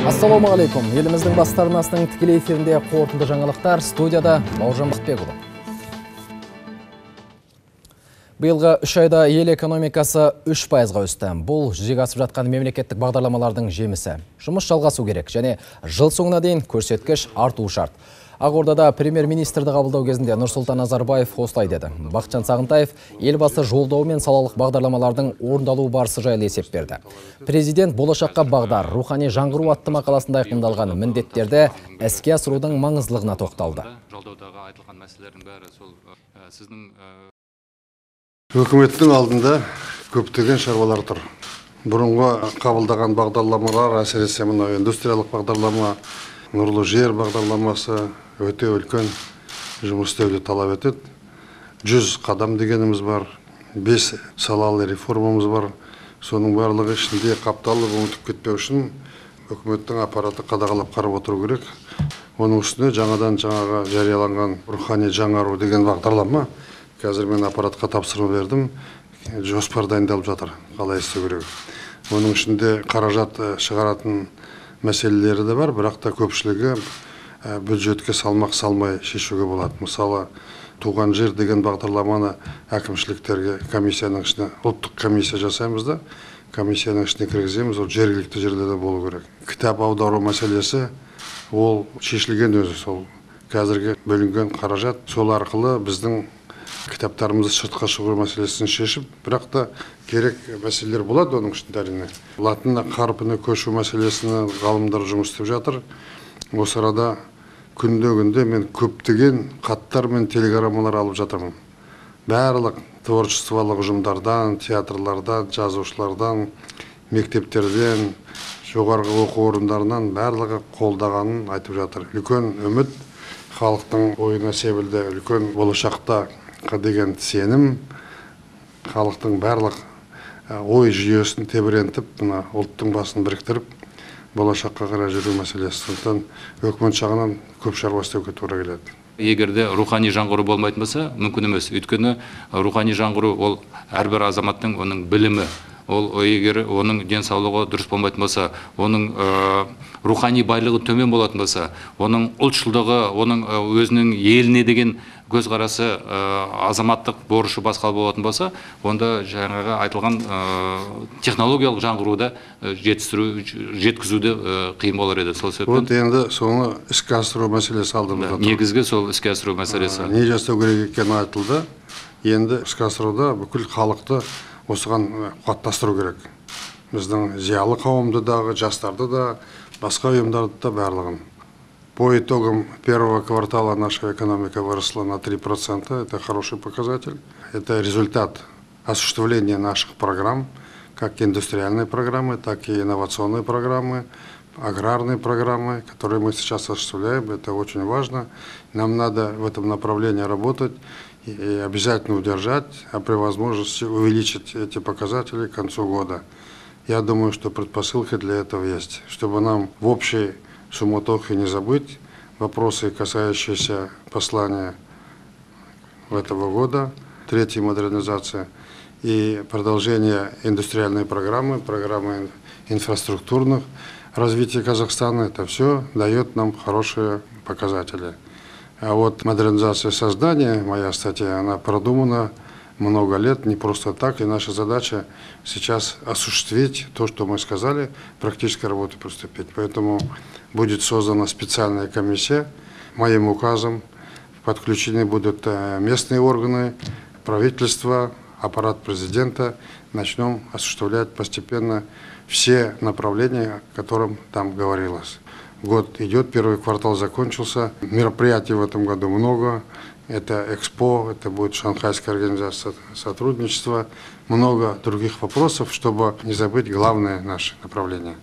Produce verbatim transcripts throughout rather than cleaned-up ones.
Ассалаумағалейкум. Еліміздің бастарынасының тікелей эфирінде қорытынды жаңалықтар, студияда Бауыржан Бақытбекұлы. Биылғы үш айда ел экономикасы үш пайызға өсті. Бұл жүзеге асып жатқан мемлекеттік бағдарламалардың жемісі. Жұмыс жалғасу керек және жыл соңына дейін көрсеткіш артуы шарт. Ақордада премьер-министрді қабылдау кезінде Нұрсұлтан Назарбаев осылай деді. Бақытжан Сағынтаев елбасы жолдауы мен салалық бағдарламалардың орындалу барысы жайлы есеп берді. Президент болашаққа бағдар, рухани жаңғыру атты мақаласында айқындалған міндеттерді іске асырудың маңыздылығына тоқталды. Үкіметтің алдында көптеген шаруалар тұр. Бұрынғы қабылдаған бағдарламалар, әсіресе мына индустриялық бағдарлама, нұрлы жер бағдарламасы өте үлкен жұмыс істеуді талап етеді. Жүз қадам дегеніміз бар, бес салалы реформамыз бар. Соның барлығы ішінде қапталып ұмытып кетпеу үшін үкіметтің аппараты қадағалап қарап отыру керек. Оның үстіне жаңадан жаңаға жарияланған рухани жаңару деген бағдарлама. Қазір мен аппаратқа тапсырма бердім. Жоспар дайындалып жатыр, қалай істеу керек. Оның ішінде қаражат шығаратын мәселелері де бар, бірақ та көпшілігі бюджетке салмақ салмай шешуге болады. Мысалы, туған жер деген бағдарламаны әкімшіліктерге комиссияның ішіне, ұлттық комиссия жасаймыз да, комиссияның ішіне кіргіземіз, ол жергілікті жерлерде болу керек. Кітап аудару мәселесі, ол шешілген өзі, сол қазіргі бөлінген қаражат, сол арқылы біздің кітаптарымызды сыртқа шығару мәселесін шешіп, бірақ та керек мәселелер болады оның ішінде әрине. Латын қарпіне көшу мәселесіне ғалымдар жұмыс істеп жатыр. Осы арада күнде-күнде мен көптеген хаттар мен телеграммалар алып жатырмын. Барлық творчестволық ұжымдардан, театрлардан, жазушылардан, мектептерден, жоғарғы оқу орындарынан барлығы қолдағанын айтып жатыр. Үлкен үміт, халықтың ойына себілді, үлкен болашақта деген сенім, халықтың барлық ой жүйесін тебірентіп, мына ұлттың басын біріктіріп, болашаққа қарай жүру мәселесі. Сондықтан өкімет жағынан көп шаруа істеуге тура келеді. Егерде рухани жаңғыру болмайтын болса, мүмкін емес. Өйткені рухани жаңғыру ол әрбір азаматтың оның білімі, ол егер оның денсаулығы дұрыс болмайтын болса, оның рухани байлығы төмен болатын болса, оның ұлтшылдығы, оның өзінің еліне деген көзқарасы азаматтық борышы басқа болатын болса, онда жаңағы айтылған технологиялық жаңғыруды жетістіру, жеткізуді қиын болар еді. Сол себептен вот енді соны іске асыру мәселесі алдымызда тұр. Негізгі сол іске асыру мәселесі. Не жасау керек екені айтылды. Енді іске асыруда бүкіл халықты осыған қуаттастыру керек. Біздің зиялы қауымды дағы, жастарды да, басқа ұйымдарды да барлығын. По итогам первого квартала наша экономика выросла на три процента. Это хороший показатель. Это результат осуществления наших программ, как индустриальной программы, так и инновационной программы, аграрной программы, которые мы сейчас осуществляем. Это очень важно. Нам надо в этом направлении работать и обязательно удержать, а при возможности увеличить эти показатели к концу года. Я думаю, что предпосылки для этого есть, чтобы нам в общей суматохе не забыть вопросы, касающиеся послания этого года, третьей модернизации и продолжение индустриальной программы, программы инфраструктурных развития Казахстана. Это все дает нам хорошие показатели. А вот модернизация создания, моя статья, она продумана много лет, не просто так, и наша задача сейчас осуществить то, что мы сказали, практической работы приступить. Поэтому будет создана специальная комиссия, моим указом подключены будут местные органы, правительство, аппарат президента, начнем осуществлять постепенно все направления, о которых там говорилось. Год идет, первый квартал закончился, мероприятий в этом году много. Это Экспо, это будет Шанхайская организация сотрудничества, много других вопросов, чтобы не забыть главное наше направление.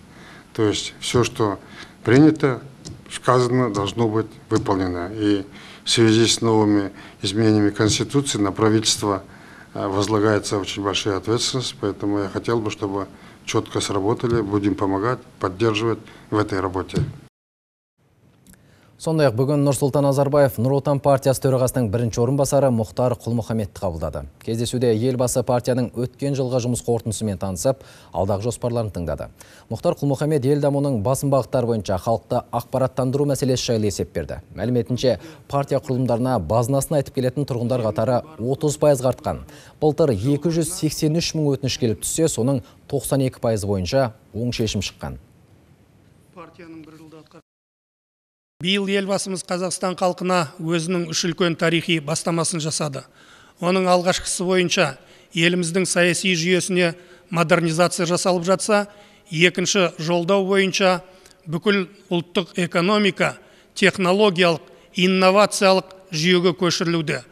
То есть все, что принято, сказано, должно быть выполнено. И в связи с новыми изменениями Конституции на правительство возлагается очень большая ответственность, поэтому я хотел бы, чтобы четко сработали, будем помогать, поддерживать в этой работе. Сондай-ақ бүгін Нұрсұлтан Назарбаев Нұр Отан партиясы төрағасының бірінші орынбасары Мұхтар Құл-Мұхаммедті қабылдады. Кездесуде елбасы партияның өткен жылғы жұмыс қорытындысымен танысып, алдағы жоспарларын тыңдады. Мұхтар Құл-Мұхаммед ел дамуының басым бағыттары бойынша халықты ақпараттандыру мәселесі жайлы есеп берді. Мәліметінше, партия құрылымдарына базынасын айтып келетін тұрғындар қатары отыз пайызға артқан. Былтыр екі жүз сексен үш мың өтініш келіп түссе, соның тоқсан екі пайызы бойынша оң шешім шыққан. Биыл елбасымыз Қазақстан халқына өзінің үш үлкен тарихи бастамасын жасады. Оның алғашқысы бойынша еліміздің саяси жүйесіне модернизация жасалып жатса, екінші жолдау бойынша бүкіл ұлттық экономика технологиялық, инновациялық жүйеге көшірілуде.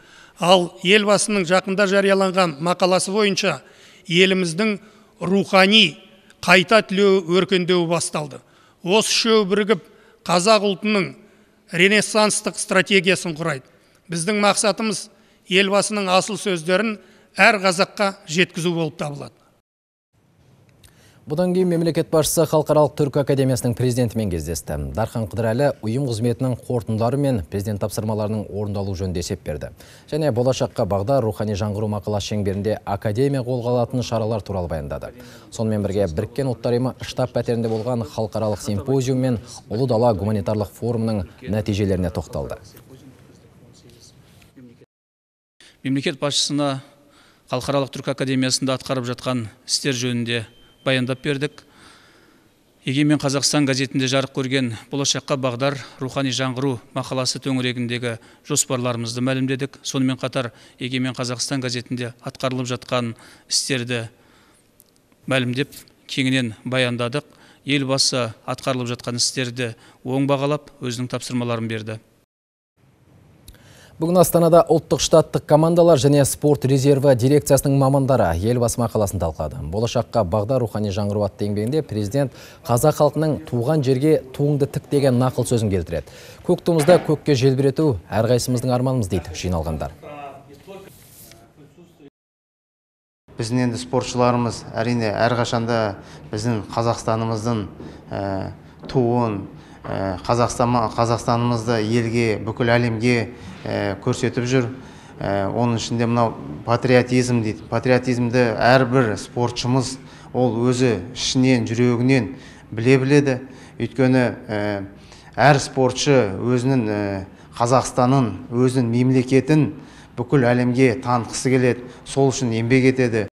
Ал елбасының жақында жарияланған мақаласы бойынша еліміздің рухани қайта түлеу өркендеуі басталды. Осы үшеуі бірігіп қазақ ұлтының ренессанстық стратегиясын құрайды. Біздің мақсатымыз елбасының асыл сөздерін әр қазаққа жеткізу болып табылады. Бұдан кейін мемлекет басшысы Халықаралық түркі академиясының президентімен кездесті. Дархан Қыдырәлі ұйым қызметінің қорытындылары мен президент тапсырмаларының орындалу жөнінде есеп берді. Және болашаққа бағдар рухани жаңғыру мақаласы шеңберінде академия қолға алатын шаралар туралы баяндады. Сонымен бірге Біріккен ұлттар ұйымы штаб пәтерінде болған халықаралық симпозиум мен Ұлы дала гуманитарлық форумның нәтижелеріне тоқталды. Мемлекет басшысына Халықаралық түркі академиясында атқарып жатқан істер жөнінде баяндап бердік. Егемен Қазақстан газетінде жарық көрген болашаққа бағдар рухани жаңғыру мақаласы төңірегіндегі жоспарларымызды мәлімдедік. Сонымен қатар Егемен Қазақстан газетінде атқарылып жатқан істерді мәлімдеп, кеңінен баяндадық. Елбасы атқарылып жатқан істерді оң бағалап, өзінің тапсырмаларын берді. Бүгін Астанада ұлттық штаттық командалар және спорт резерві дирекциясының мамандары елбасы мақаласын талқылады. Болашаққа бағдар рухани жаңғыру атты еңбегінде президент қазақ халқының туған жерге туыңды тік деген нақыл сөзін келтіреді. Көк туымызды көкке желбірету әрқайсымыздың арманымыз дейді жиналғандар. Біздің енді спортшыларымыз әрине әрқашанда біздің Қазақстанымыздың туын, Қазақстанымызды елге, бүкіл әлемге көрсетіп жүр. Оның ішінде мынау патриотизм дейді. Патриотизмді әрбір спортшымыз ол өзі ішінен, жүрегінен біле біледі. Өйткені әр спортшы өзінің Қазақстанын, өзінің мемлекетін бүкіл әлемге танытқысы келеді. Сол үшін еңбек етеді.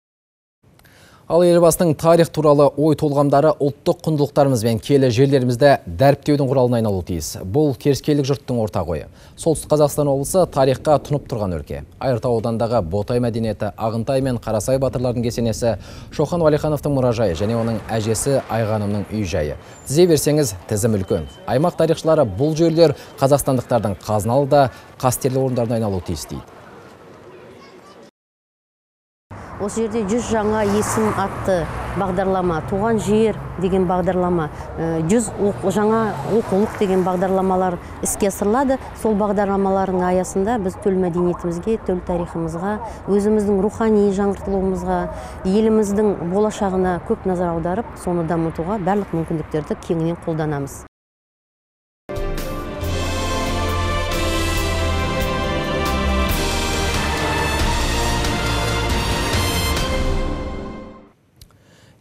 Ал елбасының тарих туралы ой толғамдары ұлттық құндылықтарымыз бен киелі жерлерімізді дәріптеудің құралына айналуы тиіс. Бұл керіскейлік жұрттың ортақ ойы. Солтүстік Қазақстан облысы тарихқа тұнып тұрған өлке. Айыртау аудандағы Ботай мәдениеті, Ағынтай мен Қарасай батырлардың кесенесі, Шоқан Уәлихановтың мұражайы және оның әжесі Айғанымның үй жайы. Тізе берсеңіз, тізім үлкен. Аймақ тарихшылары бұл жерлер қазақстандықтардың қазыналы да қастерлі орындарына айналуы тиіс дейді. Осы жерде жүз жаңа есім атты бағдарлама, туған жер деген бағдарлама, жүз жаңа оқулық деген бағдарламалар іске асырылады. Сол бағдарламалардың аясында біз төл мәдениетімізге, төл тарихымызға, өзіміздің рухани жаңғыртылуымызға, еліміздің болашағына көп назар аударып, соны дамытуға барлық мүмкіндіктерді кеңінен қолданамыз.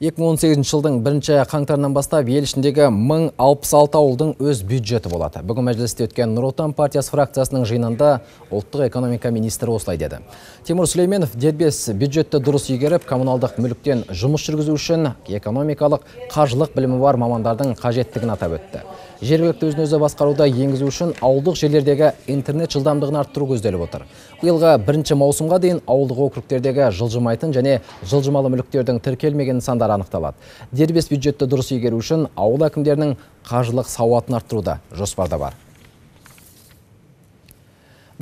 екі мың он сегізінші жылдың бірінші қаңтарынан бастап ел ішіндегі мың алпыс алты ауылдың өз бюджеті болады. Бүгін мәжілісте өткен Нұр Отан партиясы фракциясының жиынында ұлттық экономика министрі осылай деді. Тимур Сүлейменов дербес бюджетті дұрыс игеріп, коммуналдық мүліктен жұмыс жүргізу үшін экономикалық, қаржылық білімі бар мамандардың қажеттігін атап өтті. Жергілікті өзін-өзі басқаруда енгізу үшін ауылдық жерлердегі интернет жылдамдығын арттыру көзделіп отыр. Биылғы бірінші маусымға дейін ауылдық округтердегі жылжымайтын және жылжымалы мүліктердің тіркелмеген нысандары анықталады. Дербес бюджетті дұрыс игеру үшін ауыл әкімдерінің қаржылық сауатын арттыруда жоспарда бар.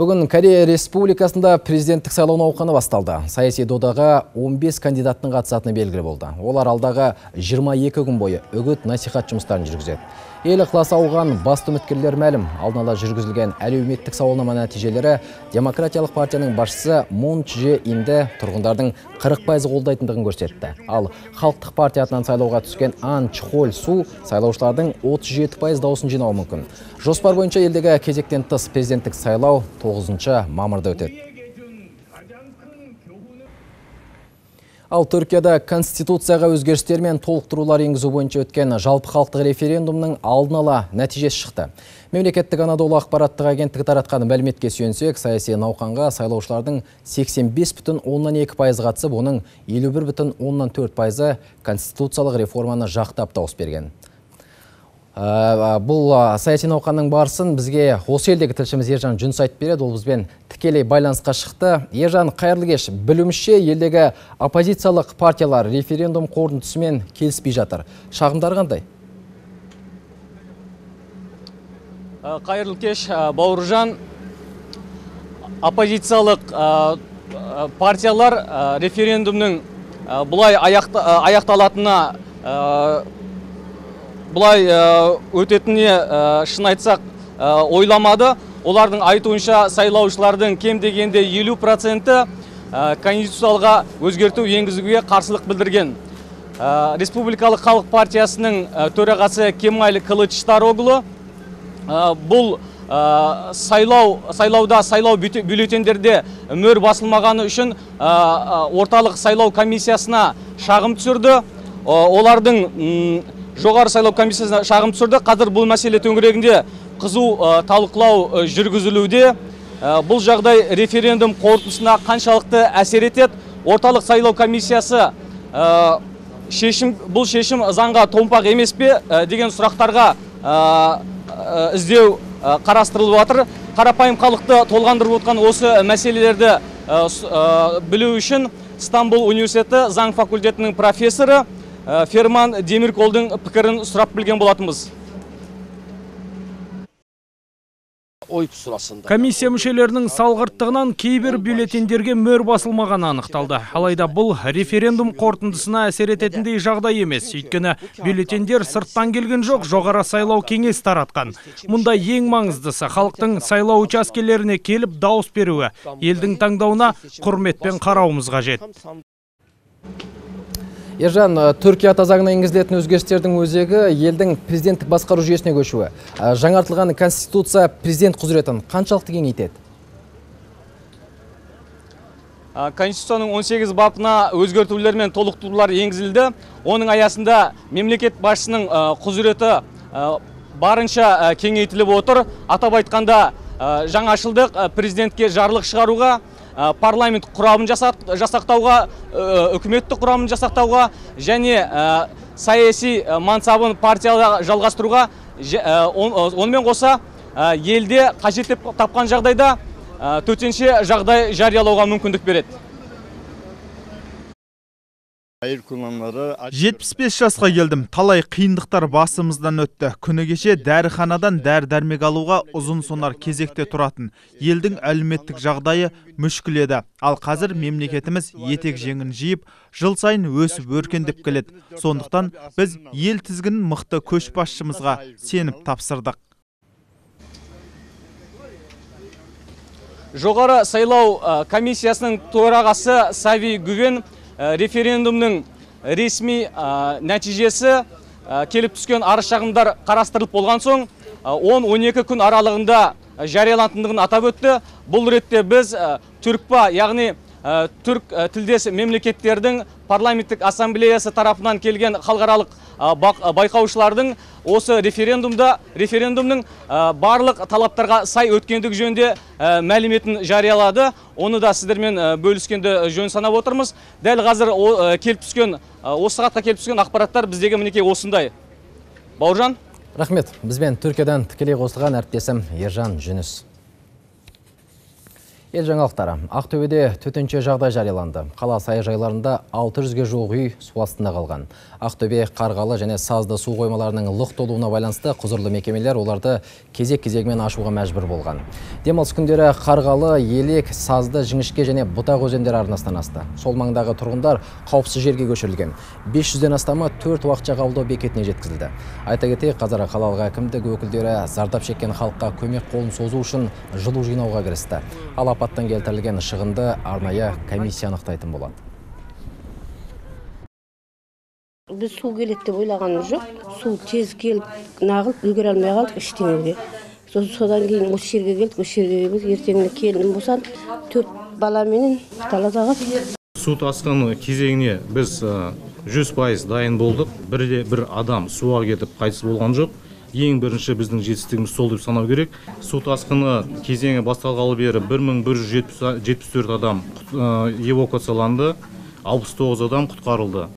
Бүгін Корея Республикасында президенттік сайлау науқаны басталды. Саяси додаға он бес кандидаттың қатысатыны белгілі болды. Олар алдағы жиырма екі күн бойы үгіт насихат жұмыстарын жүргізеді. Ел ықыласы ауған басты үміткерлер мәлім. Алдын ала жүргізілген әлеуметтік сауалнама нәтижелері Демократиялық партияның басшысы Мун Чже Инді тұрғындардың қырық пайызы қолдайтындығын көрсетті. Ал Халықтық партия атынан сайлауға түскен Ан Чхоль Су сайлаушылардың отыз жеті пайыз дауысын жинауы мүмкін. Жоспар бойынша елдегі кезектен тыс президенттік сайлау тоғызыншы мамырда өтеді. Ал Түркияда конституцияға өзгерістер мен толықтырулар енгізу бойынша өткен жалпы халықтық референдумның алдын ала нәтижесі шықты. Мемлекеттік Анадолу ақпараттық агенттігі таратқан мәліметке сүйенсек, саяси науқанға сайлаушылардың сексен бес бүтін оннан екі пайызы қатысып, оның елу бір бүтін оннан төрт пайызы конституциялық реформаны жақтап дауыс берген. Бұл саяси науқанның барысын бізге осы елдегі тілшіміз Ержан Жүніс айтып береді. Ол бізбен тікелей байланысқа шықты. Ержан, қайырлы кеш. Білуімше, елдегі оппозициялық партиялар референдум қорытындысымен келіспей жатыр. Шағымдар қандай? Қайырлы кеш, Бауыржан. Оппозициялық партиялар референдумның бұлай аяқталатына Бұлай өтетіне шын айтсақ ойламады. Олардың айтуынша сайлаушылардың кем дегенде елу проценті конституциялға өзгерту енгізуге қарсылық білдірген. Республикалық халық партиясының төрағасы Кемаль Кылычдароглу бұл сайлауда сайлау бюллетендерде мөр басылмағаны үшін орталық сайлау комиссиясына шағым түсірді. Олардың жоғары сайлау комиссиясына шағым түсірді. Қазір бұл мәселе төңірегінде қызу талқылау жүргізілуде. Бұл жағдай референдум қорытындысына қаншалықты әсер етеді? Орталық сайлау комиссиясы бұл шешім заңға томпақ емес пе деген сұрақтарға іздеу қарастырылып жатыр. Қарапайым халықты толғандырып отқан осы мәселелерді білу үшін Стамбул университеті заң факультетінің профессоры Ферман Демирколдың пікірін сұрап білген болатынбыз. Комиссия мүшелерінің салғырттығынан кейбір бюллетендерге мөр басылмағаны анықталды. Алайда бұл референдум қорытындысына әсер ететіндей жағдай емес. Өйткені бюллетендер сырттан келген жоқ, жоғары сайлау кеңес таратқан. Мұнда ең маңыздысы халықтың сайлау учаскелеріне келіп дауыс беруі. Елдің таңдауына құрметпен қарауымыз қажет. Ержан, Түркия заңына енгізілетін өзгерістердің өзегі елдің президенттік басқару жүйесіне көшуі. Жаңартылған конституция президент құзыретін қаншалықты кеңейтеді? Конституцияның он сегіз бабына өзгертулер мен толықтырулар енгізілді. Оның аясында мемлекет басшысының құзыреті барынша кеңейтіліп отыр. Атап айтқанда жаңашылдық президентке жарлық шығаруға, парламент құрамын жасақтауға, үкіметтік құрамын жасақтауға және саяси мансабын партияға жалғастыруға, онымен қоса елде қажет деп тапқан жағдайда төтенше жағдай жариялауға мүмкіндік береді. жетпіс бес жасқа келдім. Талай қиындықтар басымыздан өтті. Күні кеше дәріханадан дәрі-дәрмек алуға ұзын сонар кезекте тұратын. Елдің әлеуметтік жағдайы мүшкіл еді. Ал қазір мемлекетіміз етек жеңін жиып, жыл сайын өсіп өркендеп келеді. Сондықтан біз ел тізгінін мықты көшбасшымызға сеніп тапсырдық. Жоғары сайлау комиссиясының төрағасы Сави Гүвен референдумның ресми нәтижесі келіп түскен арыз шағымдар қарастырылып болған соң он он екі күн аралығында жарияланатындығын атап өтті. Бұл ретте біз түркпа, яғни түрк тілдес мемлекеттердің парламенттік ассамблеясы тарапынан келген халықаралық байқаушылардың осы референдумда референдумның барлық талаптарға сай өткендігі жөнінде мәліметін жариялады. Оны да сіздермен бөліскенді жөн санап отырмыз. Дәл қазір келіп түскен осы сағатқа келіп түскен ақпараттар біздегі мінекей осындай. Бауыржан. Рахмет. Бізбен Түркиядан тікелей қосылған әріптесім Ержан Жүніс. Ел жаңалықтары. Ақтөбеде төтенше жағдай жарияланды. Қала саяжайларында алты жүзге жуық үй су астында қалған. Ақтөбе, Қарғалы және Сазды су қоймаларының лық толуына байланысты құзырлы мекемелер оларды кезек-кезегімен ашуға мәжбүр болған. Демалыс күндері Қарғалы, Елек, Сазды, Жіңішке және Бұтақ өзендері арнасынан асты. Сол маңдағы тұрғындар қауіпсіз жерге көшірілген. бес жүзден астамы төрт уақытша қабылдау бекетіне жеткізілді. Айта кетейік, қазір қалалық әкімдік өкілдері зардап шеккен халыққа көмек қолын созу үшін жылу жинауға кірісті. Ал апаттан келтірілген шығынды арнайы комиссия анықтайтын болады. Біз су келеді деп ойлағанымыз жоқ. Су тез келіп, нағылып үлгере алмай қалдық ештеңеге. Содан кейін осы жерге келдік, осы жерге біз ертеңіне келінім болсан, төрт баламенен талазаға. Су тасқыны кезеңіне біз жүз пайыз дайын болдық. Бірде бір адам суға кетіп қайтыс болған жоқ. Ең бірінші біздің жетістігіміз сол деп санау керек. Су тасқыны кезеңі басталғалы бері бір мың бір жүз жетпіс төрт адам эвакуацияланды, алпыс тоғыз адам құтқарылды.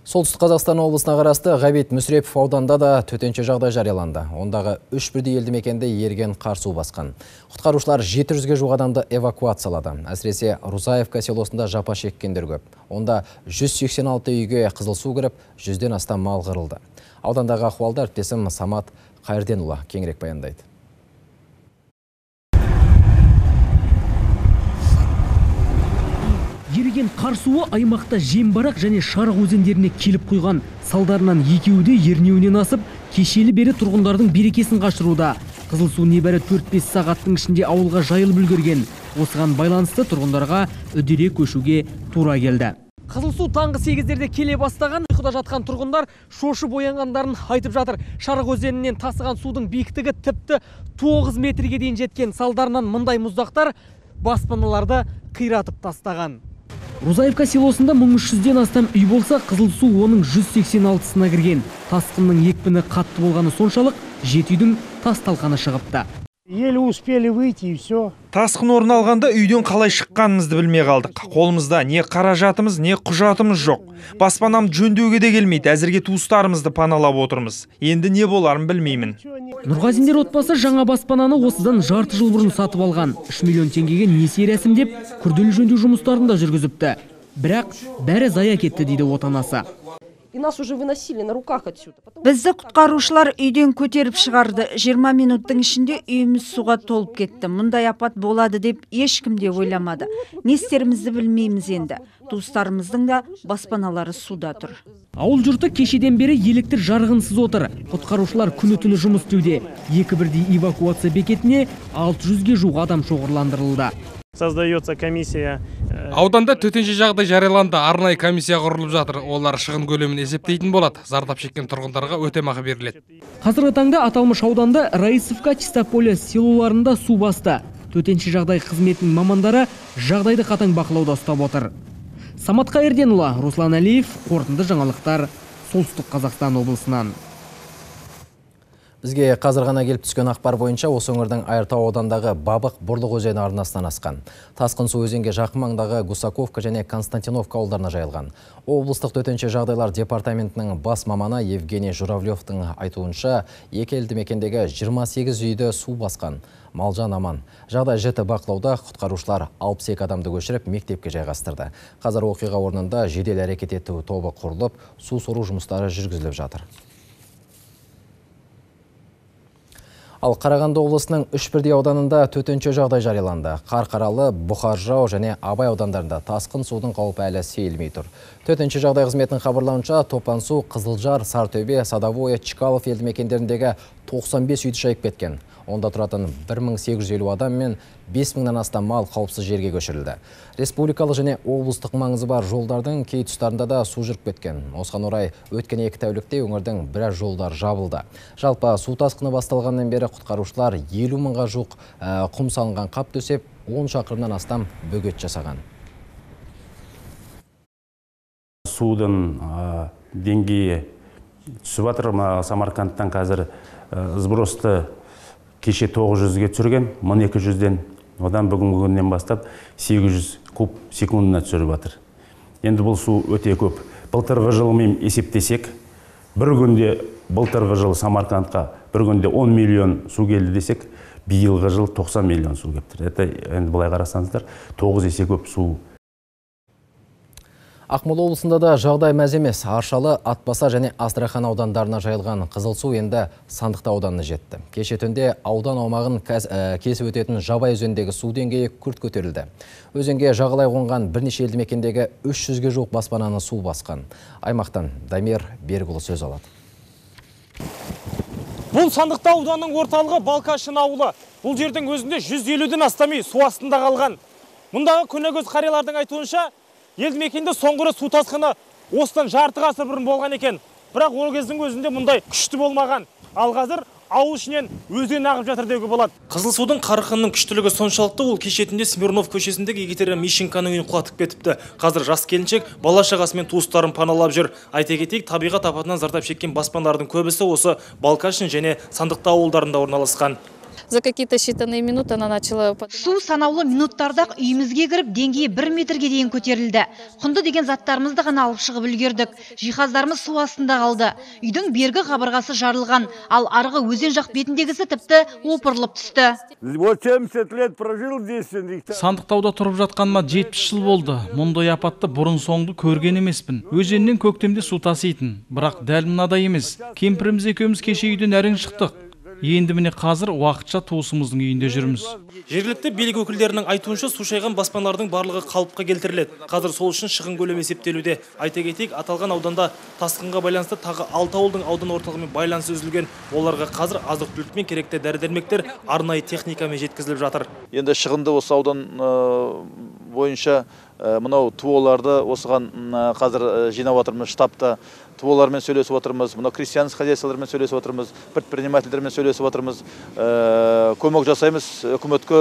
Солтүстік Қазақстан облысына қарасты Ғабит Мүсірепов ауданда да төтенше жағдай жарияланды. Ондағы үш бірдей елді мекенде ерген қар су басқан. Құтқарушылар жеті жүзге жуық адамды эвакуациялады. Әсіресе Рузаевка селосында жапа шеккендер көп. Онда жүз сексен алты үйге қызыл су кіріп, жүзден астам мал қырылды. Аудандағы ахуалды әріптесім Самат Қайырденұлы кеңірек баяндайды. Еріген қар суы аймақта Жембарақ және Шарық өзендеріне келіп құйған. Салдарынан екеуі де ернеуінен асып, кешелі бері тұрғындардың берекесін қашыруда. Қызыл су небәрі төрт-бес сағаттың ішінде ауылға жайылып үлгерген. Осыған байланысты тұрғындарға үдере көшуге тура келді. Қызыл су таңғы сегіздерде келе бастаған, ұйқыда жатқан тұрғындар шошып оянғандарын айтып жатыр. Шарық өзенінен тасыған судың биіктігі тіпті тоғыз метрге дейін жеткен. Салдарынан мұндай мұздақтар баспаналарды қиратып тастаған. Рузаевка селосында мың үш жүзден астам үй болса, қызыл су оның жүз сексен алтысына кірген. Тасқынның екпіні қатты болғаны соншалық, жеті үйдің тас талқаны шығыпты. Еле успели выйти и все. Тасқын орын алғанда үйден қалай шыққанымызды білмей қалдық. Қолымызда не қаражатымыз, не құжатымыз жоқ. Баспанам жөндеуге де келмейді. Әзірге туыстарымызды паналап отырмыз. Енді не боларын білмеймін. Нұрғазиндер отбасы жаңа баспананы осыдан жарты жыл бұрын сатып алған. үш миллион теңгеге несие рәсімдеп, күрделі жөндеу жұмыстарын да жүргізіпті. Бірақ бәрі зая кетті дейді отанасы. Бізді құтқарушылар үйден көтеріп шығарды. жиырма минуттың ішінде үйіміз суға толып кетті. Мұндай апат болады деп ешкім де ойламады. Не істерімізді білмейміз енді. Туыстарымыздың да баспаналары суда тұр. Ауыл жұрты кешеден бері электр жарығынсыз отыр. Құтқарушылар күні-түні жұмыс істеуде. Екі бірдей эвакуация бекетіне алты жүзге жуық адам шоғырландырылды. Создается комиссия. Ауданда төтенше жағдай жарияланды. Арнайы комиссия құрылып жатыр. Олар шығын көлемін есептейтін болады. Зардап шеккен тұрғындарға өтемақы беріледі. Қазіргі таңда аталмыш ауданда Раисовка, Чистополе селоларында су басты. Төтенше жағдай қызметінің мамандары жағдайды қатаң бақылауда ұстап отыр. Самат Қайырденұлы, Руслан Әлиев, қорытынды жаңалықтар, Солтүстік Қазақстан облысынан. Бізге қазір ғана келіп түскен ақпар бойынша осы өңірдің Айыртау аудандағы Бабық Бұрлық өзені арнасынан асқан. Тасқын су өзенге жақын маңдағы Гусаковка және Константиновка ауылдарына жайылған. Облыстық төтенше жағдайлар департаментінің бас маманы Евгений Журавлевтың айтуынша, екі елді мекендегі жиырма сегіз үйді су басқан. Малжан аман. Жағдай жіті бақылауда, құтқарушылар алпыс екі адамды көшіріп мектепке жайғастырды. Қазір оқиға орнында жедел әрекет ету тобы құрылып, су сору жұмыстары жүргізіліп жатыр. Ал Қарағанды облысының үш бірдей ауданында төтенше жағдай жарияланды. Қарқаралы, Бұқар-Жырау және Абай аудандарында тасқын судың қаупі әлі сейілмей тұр. Төтенше жағдай қызметінің хабарлауынша, Топан-Су, Қызылжар, Сартөбе, Садовое, Чкалов елді мекендеріндегі тоқсан бес үйді шайып кеткен. Онда тұратын бір мың сегіз жүз елу адам мен бес мыңнан астам мал қауіпсіз жерге көшірілді. Республикалық және облыстық маңызы бар жолдардың кей тұстарында да су жүріп кеткен. Осыған орай өткен екі тәулікте өңірдің біраз жолдар жабылды. Жалпы су тасқыны басталғаннан бері құтқарушылар елу мыңға жуық құм салынған қап төсеп, он шақырымнан астам бөгет жасаған. Судың деңгейі түсіп жатыр. Самарқандтан қазір сбросты кеше тоғыз жүзге түсірген, мың екі жүзден, одан бүгінгі күннен бастап сегіз жүз куб секундына түсіріп жатыр. Енді бұл су өте көп. Былтырғы жылмен есептесек, бір күнде былтырғы жыл Самарқандқа бір күнде он миллион су келді десек, биылғы жыл тоқсан миллион су кептір. Это енді былай қарасаңыздар тоғыз есе көп су. Ақмола облысында да жағдай мәз емес. Аршалы, Атбасар және Астрахан аудандарына жайылған қызыл су енді Сандықты ауданына жетті. Кеше түнде аудан аумағын кесіп өтетін Жабай өзендегі су деңгейі күрт көтерілді. Өзенге жағалай қонған бірнеше елді мекендегі үш жүзге жуық баспананы су басқан. Аймақтан Дамир Берікұлы сөз алады. Бұл Сандықты ауданның орталығы Балкашын ауылы. Бұл жердің өзінде жүз елуден астам үй су астында қалған. Мұндағы көнекөз қариялардың айтуынша, елді мекенде соңғы су тасқыны осыдан жарты ғасыр бұрын болған екен. Бірақ ол кездің өзінде мұндай күшті болмаған. Ал қазір ауыл ішінен өзен ағып жатыр деуге болады. Қызыл судың қарқынының күштілігі соншалықты, ол кешетінде Смирнов көшесіндегі Екатерина Мищенконың үйін құлатып кетіпті. Қазір жас келіншек бала шағасымен туыстарын паналап жүр. Айта кетейік, табиғат апатынан зардап шеккен баспаналардың көбісі осы Балкашин және Сандықты ауылдарында орналасқан. За какие-то считанные минуты она начала... Су санаулы минуттарда үйімізге кіріп, деңгейі бір метрге дейін көтерілді. Құнды деген заттарымызды ғана алып шығып үлгердік. Жиһаздарымыз су астында қалды. Үйдің бергі қабырғасы жарылған, ал арғы өзен жақ бетіндегісі тіпті опырылып түсті. Сандықтауда тұрып жатқаныма жетпіс жыл болды. Мұндай апатты бұрын соңды көрген емеспін. Өзеннен көктемде су таситын, бірақ дәл мынадай емес. Кемпіріміз екеуміз кеше үйден әрең шықтық. Енді міне қазір уақытша туысымыздың үйінде жүрміз. Жергілікті билік өкілдерінің айтуынша су шайған баспаналардың барлығы қалыпқа келтіріледі. Қазір сол үшін шығын көлемі есептелуде. Айта кетейік, аталған ауданда тасқынға байланысты тағы алты ауылдың аудан орталығымен байланысы үзілген. Оларға қазір азық-түлік пен керекті дәрі-дәрмектер арнайы техникамен жеткізіліп жатыр. Енді шығынды осы аудан бойынша мынау туоларды осыған қазір жинап отырмыз штабта. Туолармен сөйлесіп отырмыз, мынау крестьянский хозяйстволармен сөйлесіп отырмыз, предпринимательдермен сөйлесіп отырмыз, көмек жасаймыз, үкіметке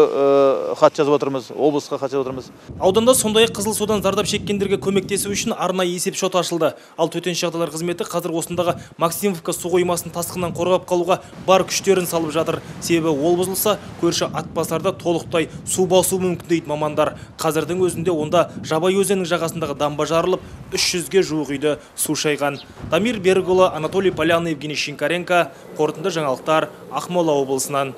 хат жазып отырмыз, облысқа хат жазып отырмыз. Ауданда сондай-ақ қызыл судан зардап шеккендерге көмектесу үшін арнайы есеп шот ашылды. Ал төтенше жағдайлар қызметі қазір осындағы Максимовка су қоймасын тасқыннан қорғап қалуға бар күштерін салып жатыр. Себебі ол бұзылса, көрші Атбасарда толықтай су басу мүмкін дейді мамандар. Қазірдің өзінде онда Жабай өзенінің жағасындағы дамба жарылып, үш жүзге жуық үйді су шайған. Дамир Берікұлы, Анатолий Поляны, Евгений Шинкаренко, қорытынды жаңалықтар, Ақмола облысынан.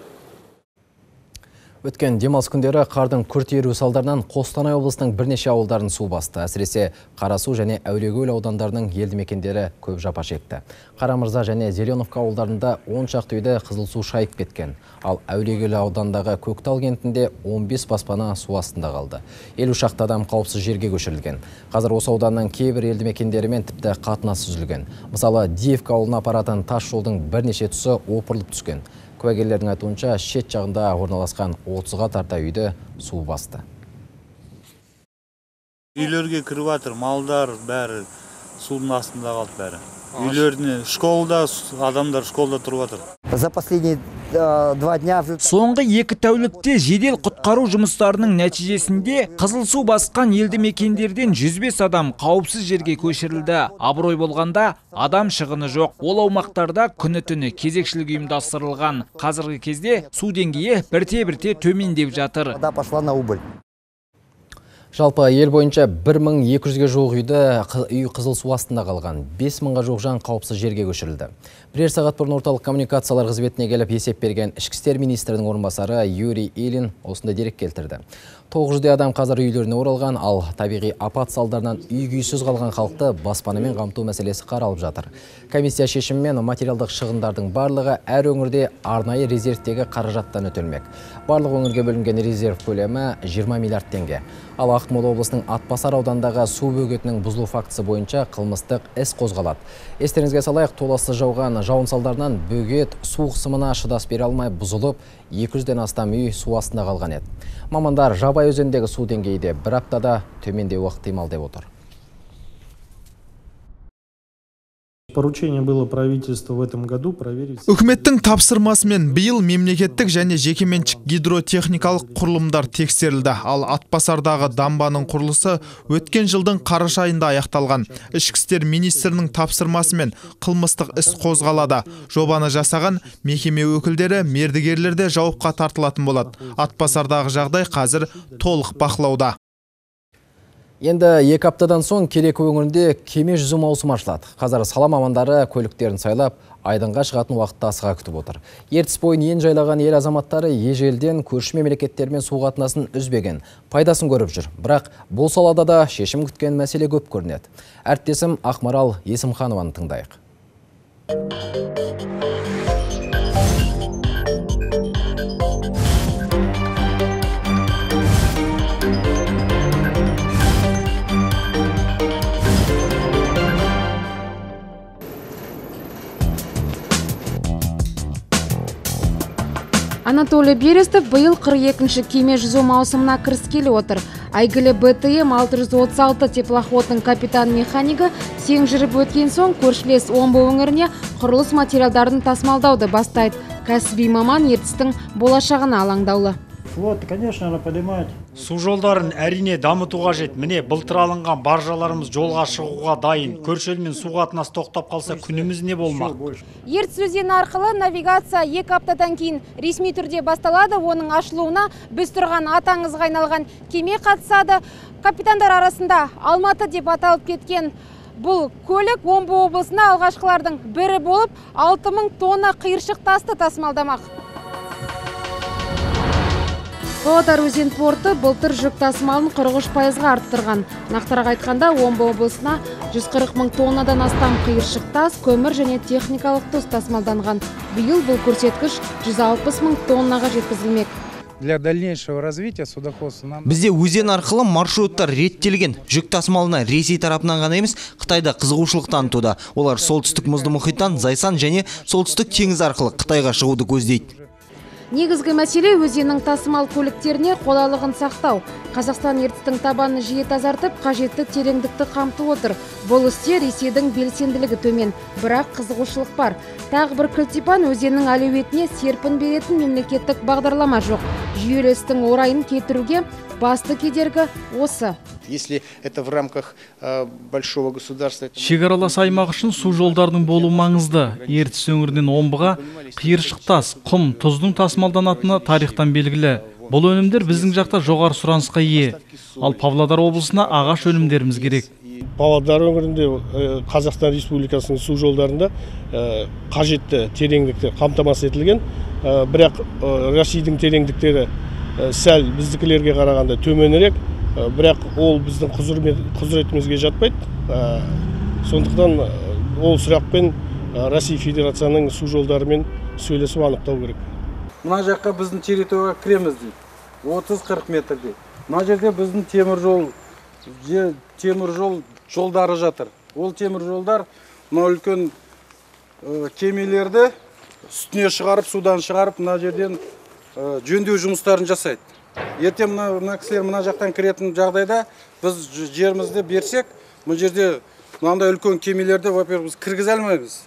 Өткен демалыс күндері қардың күрт еруі салдарынан Қостанай облысының бірнеше ауылдарын су басты. Әсіресе Қарасу және Әулиекөл аудандарының елді мекендері көп жапа шекті. Қарамырза және Зеленовка ауылдарында он шақты үйді қызыл су шайып кеткен. Ал Әулиекөл аудандағы Көктал кентінде он бес баспана су астында қалды. елу шақты адам қауіпсіз жерге көшірілген. Қазір осы ауданның кейбір елді мекендерімен тіпті қатынас үзілген. Мысалы, Диевка ауылына апаратын тас жолдың бірнеше тұсы опырылып түскен. Куәгерлердің айтуынша шет жағында орналасқан отызға тарта үйді су басты. Үйлерге кіріп жатыр, малдар бәрі судың астында қалды бәрі. Үйлеріне школда адамдар школда тұрып жатыр. За последние два дня... Соңғы екі тәулікте жедел құтқару жұмыстарының нәтижесінде қызыл су басқан елді мекендерден жүз бес адам қауіпсіз жерге көшірілді. Абырой болғанда адам шығыны жоқ. Ол аумақтарда күні-түні кезекшілік ұйымдастырылған. Қазіргі кезде су деңгейі бірте-бірте төмендеп жатыр. Пошла на убыль. Жалпы ел бойынша бір мың екі жүзге жуық үйді үй қызыл су астында қалған. бес мыңға жуық жан қауіпсіз жерге көшірілді. Бірер сағат бұрын орталық коммуникациялар қызметіне келіп есеп берген ішкі істер министрінің орынбасары Юрий Ильин осындай дерек келтірді. тоғыз жүздей адам қазір үйлеріне оралған, ал табиғи апат салдарынан үй-күйсіз қалған халықты баспанамен қамту мәселесі қаралып жатыр. Комиссия шешімімен материалдық шығындардың барлығы әр өңірде арнайы резервтегі қаражаттан өтелмек. Барлық өңірге бөлінген резерв көлемі жиырма миллиард теңге. Ал Ақмола облысының Атбасар аудандағы су бөгетінің бұзылу фактісі бойынша қылмыстық іс қозғалады. Естеріңізге салайық, толассыз жауған жауын салдарынан бөгет су қысымына шыдас бере алмай бұзылып, екі жүзден астам үй су астында қалған еді. Мамандар Жабай өзендегі су деңгейі де бір аптада төмендеуі ықтимал деп отыр. Поручение было правительству в этом году проверить. Үкіметтің тапсырмасымен биыл мемлекеттік және жекеменшік гидротехникалық құрылымдар тексерілді. Ал Атбасардағы дамбаның құрылысы өткен жылдың қараша айында аяқталған. Ішкі істер министрінің тапсырмасымен қылмыстық іс қозғалады. Жобаны жасаған мекеме өкілдері мердігерлерде жауапқа тартылатын болады. Атбасардағы жағдай қазір толық бақылауда. Енді екі аптадан соң Кереку өңірінде кеме жүзу маусымы ашылады. Қазір сала мамандары көліктерін сайлап, айдынға шығатын уақытта асыға күтіп отыр. Ертіс бойын ен жайлаған ел азаматтары ежелден көрші мемлекеттермен су қатынасын үзбеген, пайдасын көріп жүр. Бірақ бұл салада да шешім күткен мәселе көп көрінеді. Әріптесім Ақмарал Есімханованы тыңдайық. Анатолий Берестов бұйыл қырық екінші кеме жүзу маусымына кіріскелі отыр. Әйгілі Б Т М алты жүз отыз алты теплоходтың капитан-механигі сең жүріп өткен соң көршілес Омбы өңіріне құрылыс материалдарын тасымалдауды бастайды. Кәсіби маман Ертістің болашағына алаңдаулы. Вот, конечно, она поднимает. Су жолдарын әрине дамыту қажет. Міне былтыр алынған баржаларымыз жолға шығуға дайын. Көрші елмен су қатынасы тоқтап қалса күніміз не болмақ? Ертіс өзені арқылы навигация екі аптадан кейін ресми түрде басталады. Оның ашылуына біз тұрған атаңызға айналған кеме қатысады. Капитандар арасында Алматы деп аталып кеткен бұл көлік Омбы облысына алғашқылардың бірі болып алты мың тонна қиыршық тасты тасымалдамақ. Павлодар өзен порты былтыр жүк тасымалын қырық үш пайызға арттырған. Нақтырақ айтқанда, Омбы облысына жүз қырық мың тоннадан астам қиыршық тас, көмір және техникалық тұз тасымалданған. Биыл бұл көрсеткіш жүз алпыс мың тоннаға жеткізілмек. Для дальнейшего развития судоходства нам... Бізде өзен арқылы маршруттар реттелген. Жүк тасымалына Ресей тарапынан ғана емес, Қытайда қызығушылық танытуда. Олар солтүстік мұзды мұхиттан Зайсан және солтүстік теңіз арқылы Қытайға шығуды көздейді. Негізгі мәселе өзеннің тасымал көліктеріне қолайлығын сақтау. Қазақстан Ертістің табанын жиі тазартып, қажетті тереңдікті қамтып отыр. Бұл істе Ресейдің белсенділігі төмен, бірақ қызығушылық бар. Тағы бір кілтипан өзеннің әлеуетіне серпін беретін мемлекеттік бағдарлама жоқ. Жүйелі істің орайын кетіруге басты кедергі осы. Если это в рамках большого государства. Шекаралас аймақ үшін су жолдарының болу маңызды. Ертіс өңірінен Омбыға қиыршық тас, құм, тұздың тасымалданатыны тарихтан белгілі. Бұл өнімдер біздің жақта жоғары сұранысқа ие. Ал Павлодар облысына ағаш өнімдеріміз керек. Павлодар өңірінде Қазақстан Республикасының су жолдарында қажетті тереңдікті қамтамасыз етілген. Бірақ Ресейдің тереңдіктері сәл біздікілерге қарағанда төменірек. Бірақ ол біздің құзыретімізге жатпайды. Сондықтан ол сұрақпен Россия Федерацияның су жолдарымен сөйлесіп анықтау керек. Мына жаққа біздің территорияға кіреміз дейді. отыз қырық метр дейді. Мына жерде біздің темір жол, темір жол жолдары жатыр. Ол темір жолдар мына үлкен кемелерді үстіне шығарып, судан шығарып, мына жерден жөндеу жұмыстарын жасайды. Ертең мына кісілер мына жақтан кіретін жағдайда біз жерімізді берсек, бұл жерде мынандай үлкен кемелерді, во-первых, біз кіргізе алмаймыз.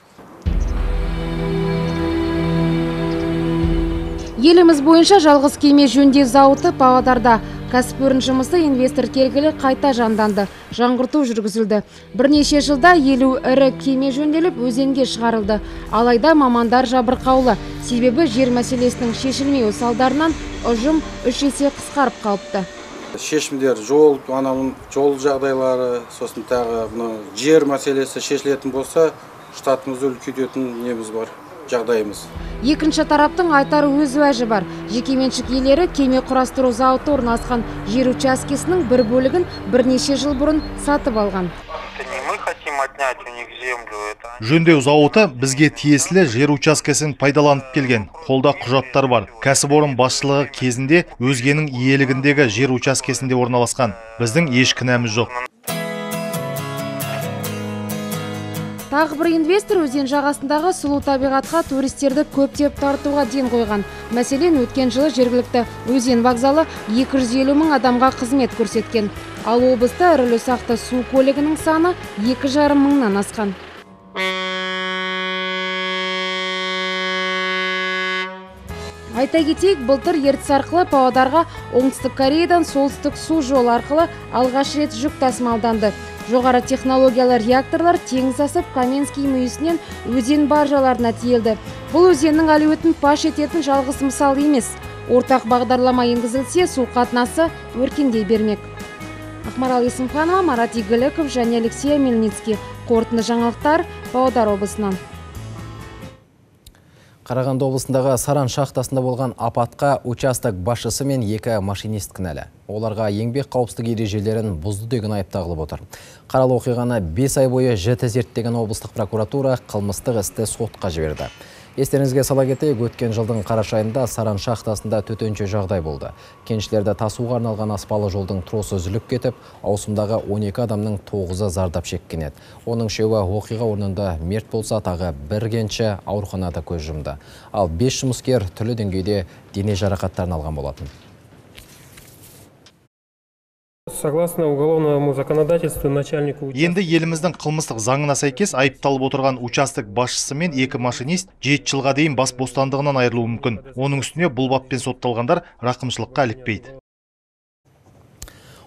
Еліміз бойынша жалғыз кеме жөндеу зауыты Павлодарда. Кәсіпорын жұмысы инвестор келгілі қайта жанданды. Жаңғырту жүргізілді. Бірнеше жылда елу ірі кеме жөнделіп өзенге шығарылды. Алайда мамандар жабырқаулы. Себебі жер мәселесінің шешілмеуі салдарынан ұжым үш есе қысқарып қалыпты. Шешімдер жол, анамын жол жағдайлары, сосын тағы жер мәселесі шешілетін болса, штатымызды үлкейтетін неміз бар, жағдайымыз. Екінші тараптың айтар өз уәжі бар. Жекеменшік иелері кеме құрастыру зауыты орналасқан жер учаскесінің бір бөлігін бірнеше жыл бұрын сатып алған. Жөндеу зауыты бізге тиесілі жер учаскесін пайдаланып келген. Қолда құжаттар бар. Кәсіпорын басшылығы кезінде өзгенің иелігіндегі жер учаскесінде орналасқан. Біздің еш кінәміз жоқ. Тағы бір инвестор өзен жағасындағы сұлу табиғатқа туристерді көптеп тартуға ден қойған. Мәселен, өткен жылы жергілікті өзен вокзалы екі жүз елу мың адамға қызмет көрсеткен. Ал облыста ірілі-ұсақты су көлігінің саны екі жарым мыңнан асқан. Айта кетейік, былтыр Ертіс арқылы Павлодарға оңтүстік Кореядан солтүстік су жолы арқылы алғаш рет жүк тасымалданды. Жоғары технологиялар реакторлар теңіз асып Каменский мүйісінен өзен баржаларына тиелді. Бұл өзеннің әлеуетін паш ететін жалғыз мысал емес. Ортақ бағдарлама енгізілсе, су қатынасы өркендей бермек. Ақмарал Есімханова, Марат Игіліков және Алексей Мельницкий. Қорытынды жаңалықтар Павлодар облысынан. Қарағанды облысындағы Саран шахтасында болған апатқа участок басшысы мен екі машинист кінәлі. Оларға еңбек қауіпсіздік ережелерін бұзды деген айып тағылып отыр. Қаралы оқиғаны бес ай бойы жіті зерттеген облыстық прокуратура қылмыстық істі сотқа жіберді. Естеріңізге сала кетейік, өткен жылдың қараша айында Саран шахтасында төтенше жағдай болды. Кеншілерді тасуға арналған аспалы жолдың тросы үзіліп кетіп, ауысымдағы он екі адамның тоғызы зардап шеккен еді. Оның үшеуі оқиға орнында мерт болса, тағы бір кенші ауруханада көз жұмды. Ал бес жұмыскер түрлі деңгейде дене жарақаттарын алған болатын. Согласно уголовному законодательству начальнику... Енді еліміздің қылмыстық заңына сәйкес айыпталып отырған участок басшысы мен екі машинист жеті жылға дейін бас бостандығынан айырылуы мүмкін. Оның үстіне бұл баппен сотталғандар рақымшылыққа ілікпейді.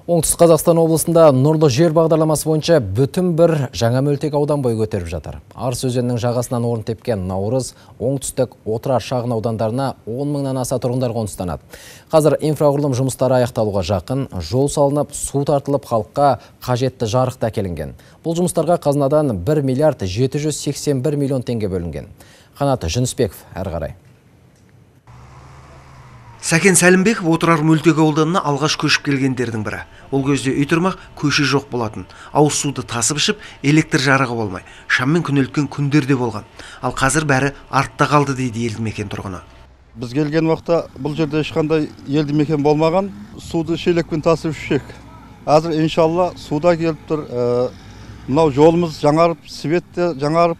Оңтүстік Қазақстан облысында Нұрлы жер бағдарламасы бойынша бүтін бір жаңа мөлтек аудан бой көтеріп жатыр. Арыс өзенінің жағасынан орын тепкен Наурыз, оңтүстік Отырар шағын аудандарына он мыңнан аса тұрғындар қоныстанады. Қазір инфрақұрылым жұмыстары аяқталуға жақын, жол салынып, су тартылып, халыққа қажетті жарық та әкелінген. Бұл жұмыстарға қазынадан бір миллиард жеті жүз сексен бір миллион теңге бөлінген. Қанат Жүнісбеков әрі қарай. Сәкен Сәлімбеков Отырар мөлтек ауданына алғаш көшіп келгендердің бірі. Ол кезде үй тұрмақ, көше жоқ болатын. Ауыз суды тасып ішіп, электр жарығы болмай, шаммен күнелткен күндерде болған. Ал қазір бәрі артта қалды дейді елді мекен тұрғыны. Біз келген уақытта бұл жерде ешқандай елді мекен болмаған, суды шелекпен тасып ішсек. Қазір иншалла суда келіп тұр. Мынау жолымыз жаңарып, свет те жаңарып,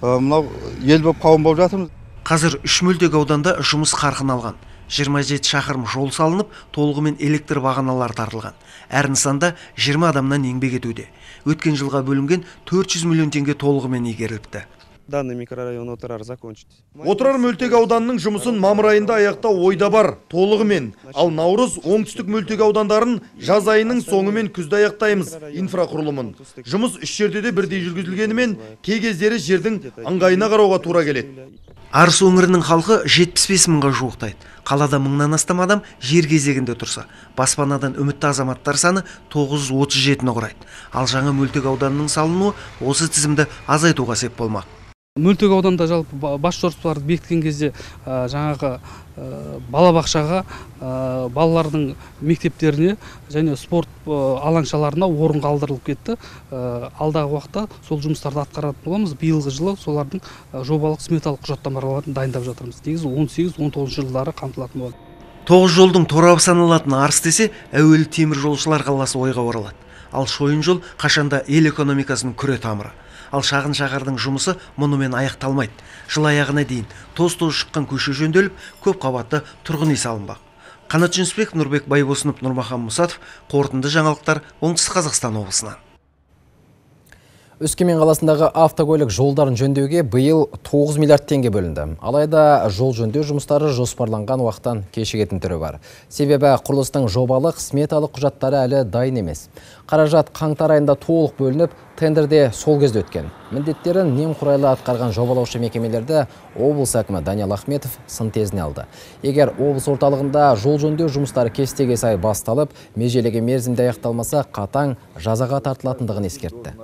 мынау ел болып қауым болып жатырмыз. Қазір үш мөлтек ауданда жұмыс қарқын алған. жиырма жеті шақырым жол салынып, толығымен электр бағаналары тартылған. Әр нысанда жиырма адамнан еңбек етуде. Өткен жылға бөлінген төрт жүз миллион теңге толығымен игеріліпті. Данный микрорайон Отырар закончит. Отырар мөлтек ауданының жұмысын мамыр айында аяқтау ойда бар, толығымен. Ал Наурыз, оңтүстік мөлтек аудандарын жаз айының соңымен күзде аяқтаймыз инфрақұрылымын. Жұмыс үш жерде де бірдей жүргізілгенімен, кей кездері жердің ыңғайына қарауға тура келеді. Арыс өңірінің халқы жетпіс бес мыңға жуықтайды. Қалада мыңнан астам адам жер кезегінде тұрса, баспанадан үмітті азаматтар саны тоғыз жүз отыз жетіні құрайды. Ал жаңа мөлтек ауданының салынуы осы тізімді азайтуға сеп болмақ. Мөлтек ауданда жалпы бас жоспарларды бекіткен кезде жаңағы балабақшаға, балалардың мектептеріне және спорт алаңшаларына орын қалдырылып кетті. Алдағы уақытта сол жұмыстарды атқаратын боламыз. Биылғы жылы солардың жобалық сметалық құжаттамаларын дайындап жатырмыз. Негізі он сегіз он тоғызыншы жылдары қамтылатын болады. Тоғыз жолдың торабы саналатын Арыс десе, әуелі темір жолшылар қаласы ойға оралады. Ал шойын жол қашанда ел экономикасының күре тамыры. Ал шағын шаһардың жұмысы мұнымен аяқталмайды. Жыл аяғына дейін тоз-тоз шыққан көше жөнделіп, көп қабатты тұрғын үй салынбақ. Қанат Жүнісбеков, Нұрбек Байбосынов, Нұрмахан Мұсатов, қорытынды жаңалықтар Оңтүстік Қазақстан облысынан. Өскемен қаласындағы автокөлік жолдарын жөндеуге биыл тоғыз миллиард теңге бөлінді. Алайда жол жөндеу жұмыстары жоспарланған уақыттан кешігетін түрі бар. Себебі құрылыстың жобалық сметалық құжаттары әлі дайын емес. Қаражат қаңтар айында толық бөлініп, тендерде сол кезде өткен. Міндеттерін немқұрайлы атқарған жобалаушы мекемелерді облыс әкімі Даниал Ахметов сын тезіне алды. Егер облыс орталығында жол жөндеу жұмыстары кестеге сай басталып, межелеген мерзімде аяқталмаса, қатаң жазаға тартылатындығын ескертті.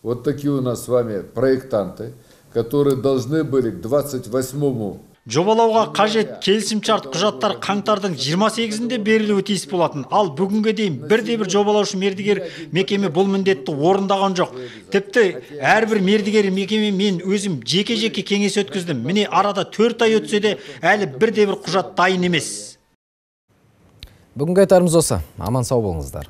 Вот такие у нас с вами проектанты, которые должны были к двадцать восьмому Жобалауға қажет келісімшарт құжаттар қаңтардың жиырма сегізінде берілуі тиіс болатын. Ал бүгінге дейін бірде-бір жобалаушы мердігер мекеме бұл міндетті орындаған жоқ. Тіпті әрбір мердігер мекеме мен өзім жеке-жеке кеңес өткіздім. Міне арада төрт ай өтсе де әлі бірде-бір құжат дайын емес. Бүгінгі айтарымыз осы. Аман сау болыңыздар.